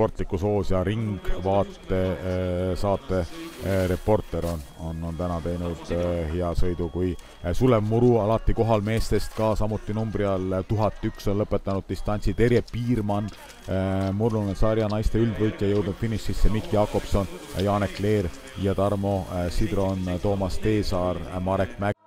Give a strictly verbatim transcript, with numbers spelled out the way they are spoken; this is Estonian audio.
sportliku soos ja ringvaate saate reporter on, on, on täna teinud hea sõidu, kui Sulev Muru alati kohal meestest ka samuti numbri all tuhat üks on lõpetanud distantsi, Terje Piirmann, murdunud sarja naiste üldvõitja jõudnud finišisse, Mikk Jakobson, Janek Leer ja Tarmo Sidron, Toomas Teesaar, Marek Mägi.